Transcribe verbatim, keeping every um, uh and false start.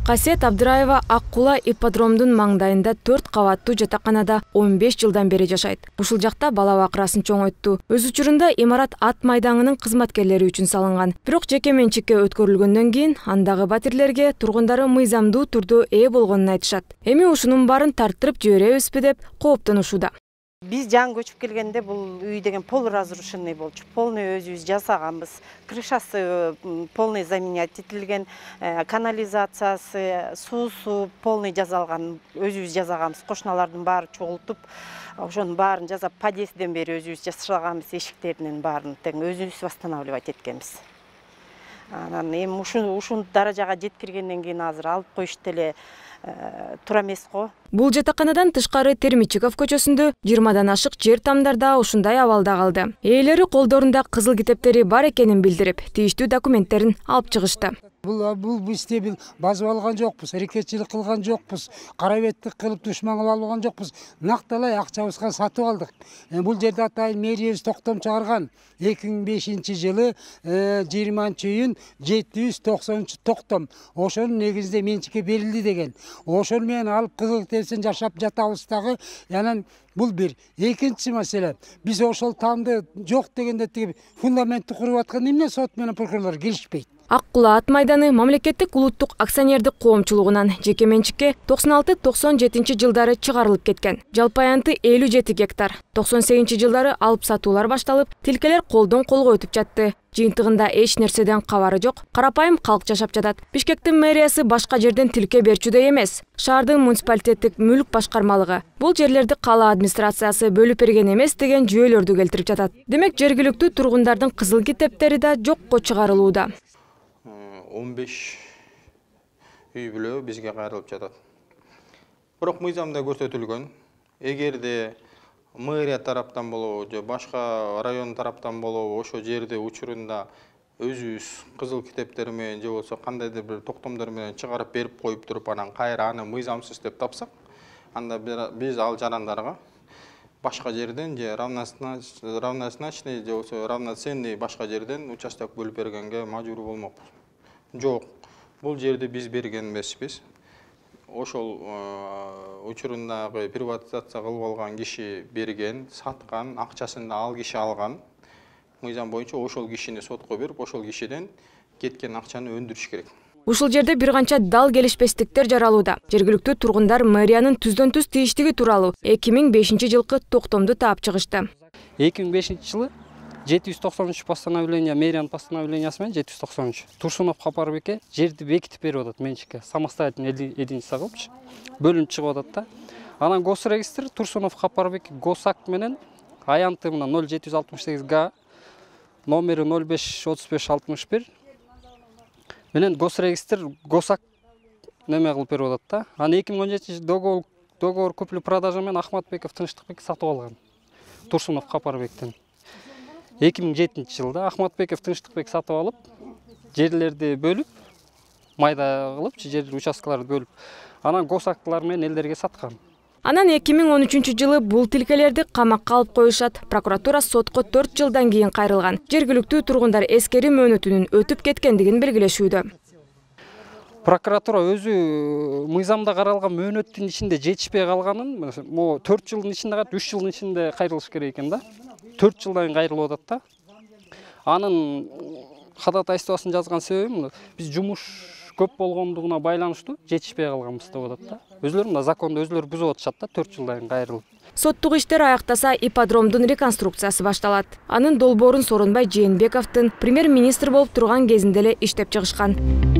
Касиет Абдыраева Ак Кула ипподромдун маңдайында төрт кабаттуу жатаканада он беш жылдан бери жашайт. Ушул жакта бала бакырасын чоңойтту. Өз учурунда имарат ат майдаңынын кызматкерлери үчүн салынган. Бирок жеке менчикке өткөрүлгөндөн кийин андагы батирлерге тургундары мыйзамдуу түрдө ээ болгонун айтышат. Эми ушунун баарын тарттырып жиберебизби деп кооптонушууда. Биз жаңы көчүп келгенде бул үй деген полуразрушенный болчу. Полный өзүбүз жасаганбыз. Крышасы полный заменять этилген, канализациясы, суусу полный жасалган. Өзүбүз жасаганбыз. Кошуналардын баары чогултуп, ошонун баарын жасап, подъездден бери өзүбүз жасаганбыз, эшиктеринин баарын тең өзүбүз восстанавливать эткенбиз. Анан эми ушул ушул даражага жеткиргенден кийин азыр алып коюшту эле тура эмес го. Бул жатаканадан тышкары Термичиков көчөсүндө жыйырмадан ашык жер тамдарда ушундай абалда калды. Ээлери колдорунда кызыл китептери бар экенин билдирип, тийиштүү документтерин алып чыгышты. Бул бул бизде бил базып алган жокпуз, аракетчилик кылган жокпуз, карабеттик кылып душман кылып алган жокпуз. Накталай акчабызга сатып алдык. Бул жерде атайын мэриябыз токтом чыгарган. эки миң бешинчи жылы жыйырманчы июнь жети жүз токсонунчу токтом. Ошонун негизинде менчикке берилди деген. Ошол менен алып кызыл китептен жашап жатабыз дагы. Анан бул бир. Экинчи маселе, биз ошол тамды жок дегенде тиги фундаментти куруп аткан эмне сот менен прокурорлор келишпейт. Ак Кула ат майданы мамлекеттик улуттук акционердик коомчулугунан жеке менчикке токсон алты токсон жетинчи жылдары чыгарылып кеткен. Жалпы аянты элүү жети гектар. токсон сегизинчи жылдары алып сатуулар башталып, тилкелер колдон колго өтүп жатты. Жыйынтыгында эч нерседен кабары жок, карапайым калк жашап жатат. Бишкектин мэриясы башка жерден тилке берчүдөй эмес. Шаардын муниципалитеттик мүлк башкармалыгы бул жерлерди кала администрациясы бөлүп берген эмес деген жүйөлөрдү келтирип жатат. Демек жергиликтүү тургундардын кызыл китептери да жокко чыгарылууда. он беш үй бүлө бизге кайрылып жатат. Бирок мыйзамда көрсөтүлгөн, эгерде мэрия тараптан болобу же башка район тараптан болобу ошо жерди учурунда өзүбүз кызыл китептер менен же болсо кандайдыр бир токтомдор менен чыгарып берип коюп туруп анан кайра аны мыйзамсыз деп тапсак, анда биз ал жарандарга башка жерден же равнозначный же болсо равноценный башка жерден участок бөлүп бергенге мажбур болмокпуз. Жок, бул жерди биз берген эмеспиз. Ошол учурундагы приватизация кылып алган киши берген, саткан, акчасын да ал киши алган. Мыйзам боюнча ошол кишини сотко берип, ошол кишиден кеткен акчаны өндүрүш керек. Ушул жерде бир канча дал келишпестиктер жаралууда. Жергиликтүү тургундар мэриянын түздөн түз тийиштиги тууралуу эки миң бешинчи жылкы токтомду таап чыгышты. эки миң бешинчи жылы жети жүз токсонунчу постановление, мэриянын постановлениясы менен жети жүз токсонунчу. Турсунов Капарбекке жерди бекитип берип атат менчикке. Самостоятельный единица кылыпчы. Бөлүнүп чыгып атат да. Анан госрегистр Турсунов Капарбек госакт менен аянты мына ноль жети жүз алтымыш сегиз га номери ноль беш отуз беш алтымыш бир менен госрегистр госакт неме кылып берип атат да. Анан эки миң он жетинчи договор договор купли-продажа менен Ахматбеков Тынчтыкбек сатып алган. Турсунов Капарбектен. эки миң жетинчи жылда Ахматбеков Тынчтыкбек сатып алып, жерлерди бөлүп, майда кылып, жер участкаларды бөлүп, анан госактылар менен элдерге саткан. Анан эки миң он үчүнчү жылы бул тилкелерди камакка алып коюшат. Прокуратура сотко төрт жылдан кийин кайрылган. Жергиликтүү тургундар эскери мөөнөтүнүн өтүп кеткендигин белгилешүүдө. Прокуратура өзү мыйзамда каралган мөөнөттүн ичинде жетишпей калганын, могу төрт жылдын ичинде, үч жылдын ичинде кайрылыш керек экен да. төрт жылдан кайрылып атат да. Анын ходатайствосын жазган себеби биз жумуш көп болгондугуна байланыштуу жетишпей калганбыз деп атат да. Өзүлөрү мына законду өзүлөрү бузуп атышат да төрт жылдан кайрылып. Соттук иштер аяктаса ипподромдун реконструкциясы башталат. Анын долбоорун Сооронбай Жээнбековдун премьер-министр болуп турган кезинде эле иштеп чыгышкан.